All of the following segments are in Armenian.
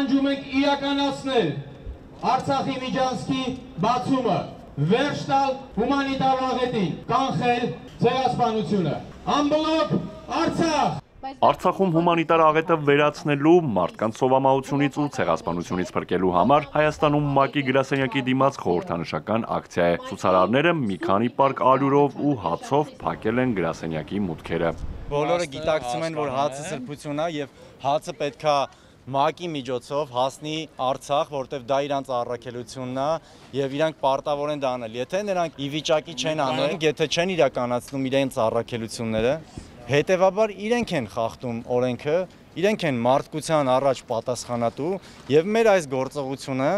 պահանջում ենք իրականացնել Արցախի միջանցքի բացումը, վերջ տալ հումանիտար աղետին, կանխել ցեղասպանությունը։ Ամբլոկ Արցախ։ Արցախում հումանիտար աղետը վերացնելու, մարդկանց սովամահությունից ու ցեղասպանությունից փրկելու համար Հայաստանում ՄԱԿ-ի գրասենյակի դիմաց խորհրդանշական ակցիա է։ Ցուցարարները մի քանի պարկ ալյուրով ու հացով փակել են գրասենյակի մուտքերը։ Բոլորը գիտակցում են, որ հացը սրբություն է եւ հացը պետքա ՄԱԿ-ի միջոցով հասնի Արցախ, որտեվ դա իրանց առաքելությունն է եւ իրանք պարտավոր են դա անել։ Եթե նրանք ի վիճակի չեն անել, եթե չեն իրականացնում իրենց առաքելությունները, հետևաբար իրենք են խախտում օրենքը, իրենք են մարդկության առաջ պատասխանատու եւ մեր այս գործողությունը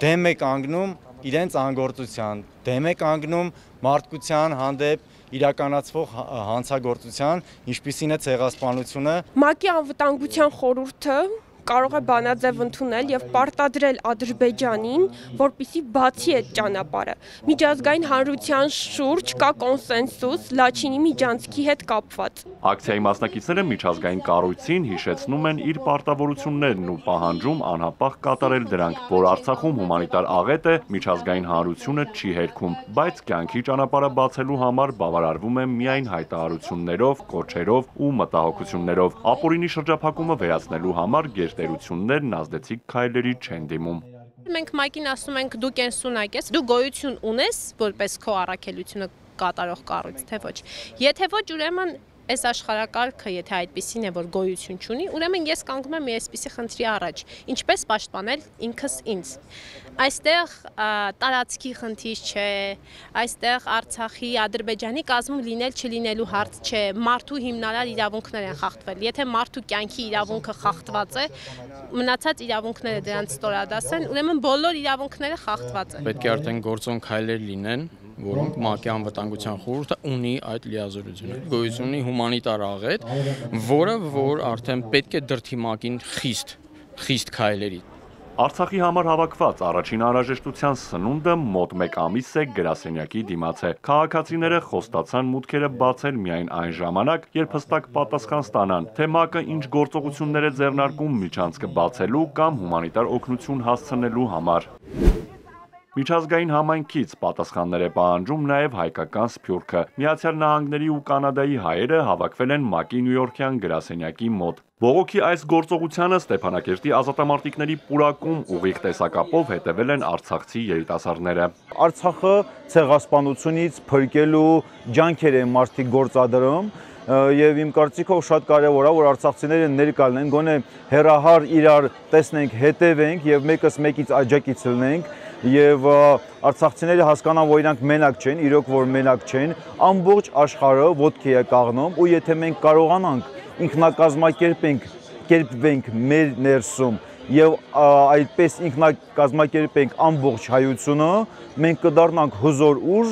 դեմ է կանգնում իրենց անգործության, դեմ է կանգնում մարդկության հանդեպ իրականացվող հանցագործության, ինչպիսին է ցեղասպանությունը։ ՄԱԿ-ի անվտանգության խորհուրդը կարող է բանաձև ընդունել եւ պարտադրել Ադրբեջանին, որպիսի բացի այդ ճանապարհը։ Միջազգային հանրության շուրջ կա կոնսենսուս Լաչինի միջանցքի հետ կապված։ Ակցիայի մասնակիցները միջազգային կառույցին հիշեցնում են իր պարտավորություններն ու պահանջում անհապաղ կատարել դրանք, որ Արցախում հումանիտար աղետ է, միջազգային հանրությունը չի հերքում, բայց կյանքի ճանապարհը բացելու համար բավարարվում է միայն հայտարարություններով, կոչերով ու մտահոգություններով։ Ապօրինի շրջափակումը վերացնելու համար գերտերություններն ազդեցիկ քայլերի չեն դիմում։ Մենք ՄԱԿ-ին ասում ենք դու կենսունակ ես, դու գոյություն ունես որպես քո առաքելությունը կատարող կառույց, թե ոչ։ Եթե ոչ, ուրեմն այս աշխարհակարգը, եթե այդպեսին է, որ գոյություն չունի, ուրեմն ես կանգնում եմ այսպիսի խնդրի առաջ, ինչպես պաշտպանել ինքս ինձ։ Այստեղ տարածքի խնդիր չէ, այստեղ Արցախի, Ադրբեջանի կազմում լինել չլինելու հարց չէ, մարդու հիմնարար իրավունքներ են խախտվել։ Եթե մարդու կյանքի իրավունքը խախտված է, մնացած իրավունքները դրանց ստորադաս են, ուրեմն բոլոր իրավունքները խախտված են։ Պետք է արդեն գործոն քայլեր լինեն, որոնք ՄԱԿ-ի անվտանգության խորհուրդը ունի այդ լիազորությունը։ Գոյություն ունի հումանիտար աղետ, որ արդեն պետք է դրդի ՄԱԿ-ին խիստ քայլերի։ Արցախի համար հավաքված առաջին անհրաժեշտության սնունդը մոտ 1 ամիս է գրասենյակի դիմաց է։ Քաղաքացիները խոստացան մուտքերը բացել միայն այն ժամանակ, երբ հստակ պատասխան ստանան, թե ՄԱԿ-ը ինչ գործողություններ է ձեռնարկում միջանցքը բացելու կամ հումանիտար օգնություն հասցնելու համար։ Միջազգային համայնքից պատասխաններ է պահանջում նաև հայկական Սփյուռքը։ Միացյալ Նահանգների ու Կանադայի հայերը հավաքվել են ՄԱԿ-ի նյույորքյան գրասենյակի մոտ։ Բողոքի այս գործողությանը Ստեփանակերտի ազատամարտիկների պուրակում ուղիղ տեսակապով հետևել են արցախցի երիտասարդները։ Արցախը ցեղասպանությունից փրկելու ջանքեր են մարդիկ գործադրում եւ իմ կարծիքով շատ կարեւոր է որ արցախցիները ներկա լինեն, գոնե հերահար իրար տեսնենք, հետևենք եւ մեկս մեկից աջակից լինենք եւ արցախցիները հասկանան, որ իրանք մենակ չեն, իրոք որ մենակ չեն, ամբողջ աշխարհը ոտքի է կաղնում ու եթե մենք կարողանանք ինքնակազմակերպենք մեր ներսում եւ այդպես ինքնակազմակերպենք ամբողջ հայությունը, մենք կդառնանք հզոր ուժ։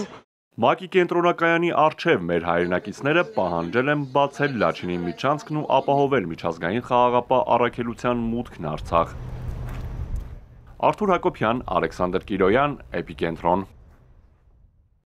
ՄԱԿ-ի կենտրոնակայանի առջև մեր հայրենակիցները պահանջել են բացել Լաչինի միջանցքն ու ապահովել միջազգային խաղաղապահ առաքելության մուտքն Արցախ։ Արթուր Հակոբյան, Ալեքսանդր Կիրոյան, Էպիկենտրոն։